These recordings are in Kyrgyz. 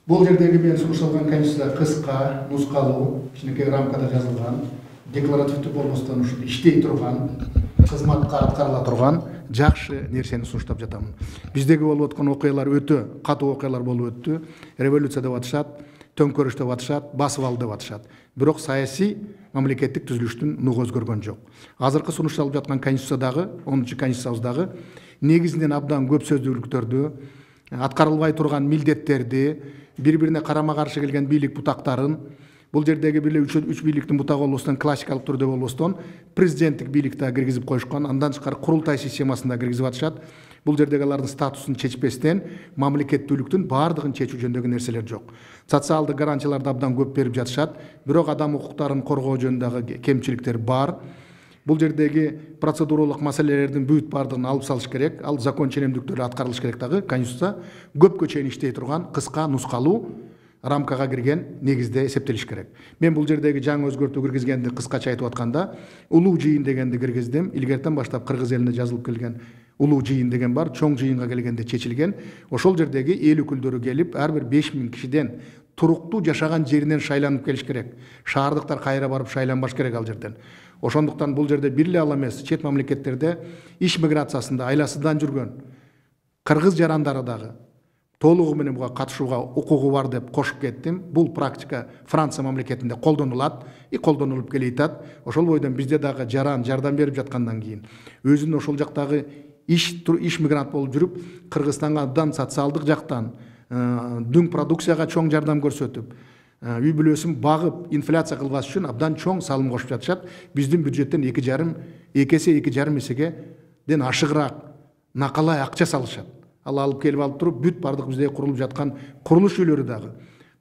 Бул жердеги мен сунушталган конституция кыска, нускалуу, кичинекей рамкада жазылган, декларативдүү болбостон ушул иштей турган, кызматка аткарыла турган жакшы нерсени сунуштап жатамын. Биздеги болуп аткан окуялар өтө катуу окуялар болуп өттү. Революция деп атышат, төңкөрүш деп атышат, басып алды деп атышат. Бирок саясий мамлекеттик түзүлүштүн нугу өзгөргөн жок. Азыркы сунушталып жаткан конституциядагы, 10-чу конституциябыздагы негизинен абдан көп сөздүүлүктөрдү, аткарылбай турган милдеттерди, бири-бирине карама-каршы келген бийлик бутактарын, бул жердеги бир үч бийликтин бутагы болбостон, классикалык түрдө болбостон, президенттик бийликти киргизип коюшкан, андан тышкары курултай системасында киргизип атышат. Бул жердеги алардын статусун чечпестен мамлекеттүүлүктүн баардыгын чечүү жөнүндөгү нерселер жок. Социалдык гарантияларды абдан көп берип жатышат, бирок адам укуктарын коргоо жөнүндөгү кемчиликтер бар. Бул жердеги процедуралык маселелердин бүт баардыгын алып салыш керек, ал закон ченемдүүлүктөрү аткарылыш керек дагы. Конституция көпкө чейин иштей турган кыска, нускалуу рамкага кирген негизде эсептелиш керек. Мен бул жердеги жаңы өзгөртүү киргизгенди кыскача айтып атканда, улуу жыйын дегенди киргиздим. Илгертен баштап кыргыз элине жазылып келген улуу жыйын деген бар, чоң жыйынга келгенде чечилген. Ошол жердеги эл өкүлдөрү келип, ар бир 5000 кишиден туруктуу жашаган жеринен шайланып келиш керек. Шаардыктар кайра барып шайланбаш керек ал жерден. Ошондуктан бул жерде бир эле ал эмес, чет мамлекеттерде иш миграциясында айласыдан жүргөн кыргыз жарандары дагы толугу менен буга катышууга укугу бар деп кошуп кеттим. Бул практика Франция мамлекетинде колдонулат, колдонулуп келейтат. Ошол бойдон бизде дагы жардам берип жаткандан кийин өзүнүн ошол жактагы иш мигрант болуп жүрүп, Кыргызстанга абдан социалдык жактан дүң продукцияга чоң жардам көрсөтүп, үй бүлөсүн багып, инфляция кылбаш үчүн абдан чоң салым кошуп жатышат. Биздин бюджеттен 2,5 эседен ашыгыраак накалай акча салышат. Ал алып келип алып туруп, бүт бардык бизде курулуп жаткан курулуш үйлөрү дагы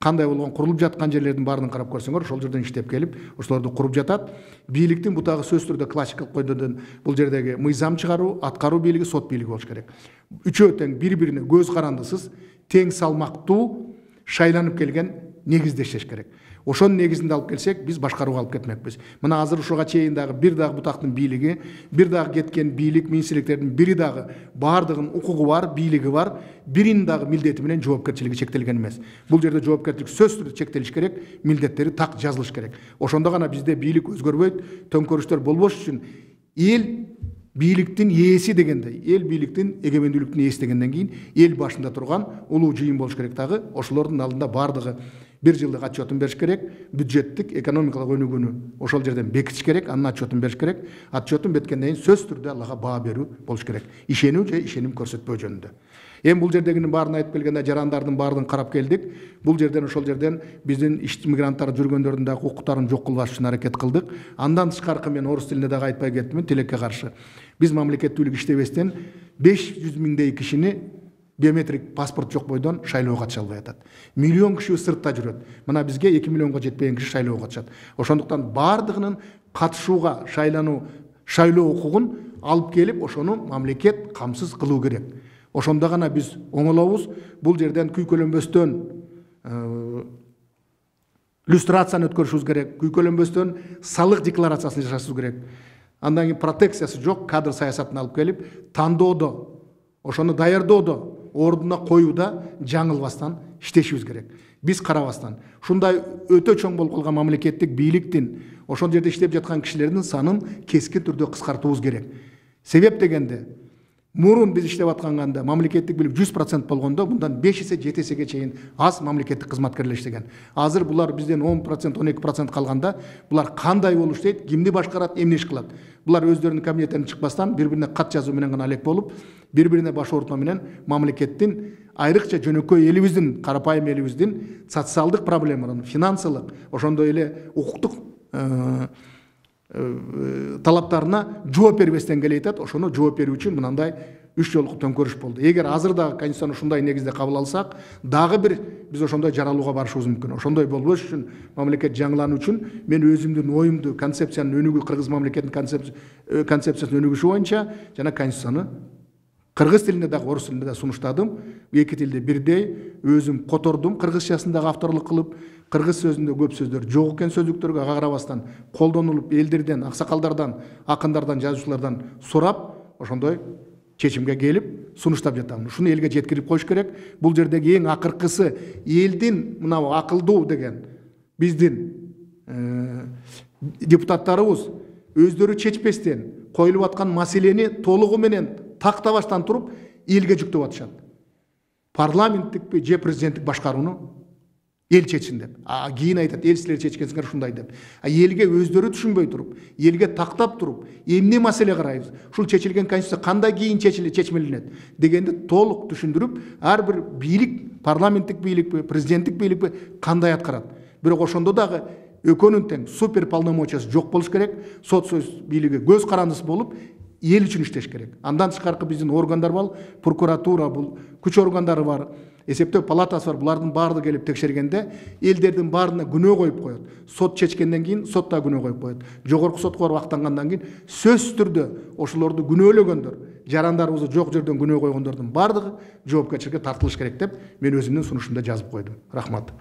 кандай болгон, курулуп жаткан жерлердин баарын карап көрсөңөр, ошол жерден иштеп келип, ошолорду куруп жатат. Бийликтин бутагы сөзсүз түрдө классикалык койдодон бул жердеги мыйзам чыгаруу, аткаруу бийлиги, сот бийлиги болуш керек. Үчөө тең, бири-бирине көз карандысыз, тең салмактуу шайланып келген негизде иштеш керек. Ошонун негизинде алып келсек, биз башкарууга алып кетмекпиз. Мына азыр ушуга чейин дагы бир дагы бутактын бийлиги, бир дагы кеткен бийлик, министрликтердин бири дагы баардыгынын укугу бар, бийлиги бар, биринин дагы милдети менен жоопкерчилиги чектелген эмес. Бул жерде жоопкерчилик сөзсүз түрдө чектелиш керек, милдеттери так жазылыш керек. Ошондо гана бизде бийлик өзгөрбөйт, төңкөрүштөр болбош үчүн эл бийликтин ээси дегендей, эл бийликтин эгемендүүлүктүн ээси дегенден кийин эл башында турган улуу жыйын болуш керек дагы. Ошолордун алдында баардыгы бир жылдык отчетун бериш керек, бюджеттик, экономикалык өнүгүүнү ошол жерден бекитиш керек, анын отчетун бериш керек. Отчетун беткенден кийин сөзсүз түрдө алага баа берүү болуш керек. Ишенүү же ишеним көрсөтпөө жөнүндө. Эми бул жердегинин баарын айтып келгенде жарандардын баардыгын карап келдик. Бул жерден ошол жерден биздин иш мигранттар жүргөндөрдүн дагы укуктарын жок кылбаш үчүн аракет кылдык. Андан тышкары мен орус тилинде дагы айтпай кеттимин, тилекке каршы. Биз мамлекеттүүлүк иштебестен 500 миңдей кишини биометрик паспорт жок бойдон шайлоого катыша албай атат. Миллион киши сыртта жүрөт. Мына бизге 2 миллионго жетпеген киши шайлоого катышат. Ошондуктан баардыгынын катышууга, шайлоо укугун алып келип, ошону мамлекет камсыз кылуу керек. Ошондо гана биз оңолобуз. Бул жерден күйкөлөнбөстөн люстрацияны өткөрүшүбүз керек, күйкөлөнбөстөн салык декларациясын жасашыбыз керек. Андан кийин протекциясы жок кадр саясатын алып келип, тандоодо, ошону даярдоодо, ордуна коюуда жаңылбастан иштешибиз керек. Биз карабастан, ушундай өтө чоң болуп калган мамлекеттик бийликтин, ошол жерде иштеп жаткан кишилердин санын кескин түрдө кыскартуубуз керек. Себеп дегенде, мурун биз иштеп атканда мамлекеттик бийлик 100% болгондо, мындан 5 эсе, 7 эсеге чейин аз мамлекеттик кызматкерлер иштеген. Азыр булар бизден 10%, 12% калганда, булар кандай болуп иштейт, кимди башкарат, эмне иш кылат? Булар өздөрүнүн кабинеттеринен чыкпастан, бири-бирине кат жазуу менен гана алек болуп, бири-бирине баш оорутма менен мамлекеттин, айрыкча жөнөкөй элибиздин, карапайым элибиздин социалдык проблемаларын, финансылык, ошондой эле укуктук талаптарына жооп бербестен келейтат. Ошону жооп берүү үчүн мынандай 3 жолку төңкөрүш болду. Эгер азыр дагы конституцияны ушундай негизде кабыл алсак, дагы бир биз ошондой жаралууга барышыбыз мүмкүн. Ошондой болбош үчүн, мамлекет жаңылануу үчүн мен өзүмдүн оюмду, концепциянын өнүгүү, кыргыз мамлекетинин концепциясын өнүгүшү боюнча жана конституцияны кыргыз тилинде дагы, орус тилинде да сунуштадым. Эки тилде бирдей өзүм котордум, кыргызчасын дагы авторлук кылып. Кыргыз сөзүндө көп сөздөр жок экен, сөздүктөргө ага карабастан колдонулуп, элдерден, аксакалдардан, акындардан, жазуучулардан сурап, ошондой чечимге келип сунуштап жатам. Ушуну элге жеткирип коюш керек. Бул жердеги эң акыркысы элдин мына акылдуу деген биздин депутаттарыбыз өздөрү чечпестен коюлуп аткан маселени толугу менен тактабастан туруп элге жүктөп атышат. Парламенттикпи же президенттик башкарууну эл чечсин деп. Кийин айтат, эл силер чечкенсиңер ушундай деп. Элге өздөрү түшүнбөй туруп, элге тактап туруп, эмне маселе карайбыз? Ушул чечилген конституция кандай кийин чечмеленет дегенди толук түшүндүрүп, ар бир бийлик, парламенттик бийликпи, президенттик бийликпи кандай аткарат. Бирок ошондо дагы экөөнүн тең супер полномочиясы жок болуш керек. Сот сөз бийлиги көз карандысы болуп, эл үчүн иштеш керек. Андан тышкаркы биздин органдар бар, прокуратура, бул күч органдары бар, эсептөө палатасы бар. Булардын баардыгы келип текшергенде элдердин баарына күнөө коюп коет. Сот чечкенден кийин сот да күнөө коюп коет. Жогорку сотко барып актангандан кийин сөзсүз түрдө ошолорду күнөөлөгөндөр, жарандарыбызды жок жерден күнөө койгондордун баардыгы жоопкерчиликке тартылыш керек деп мен өзүмдүн сунушумда жазып койдум. Рахмат.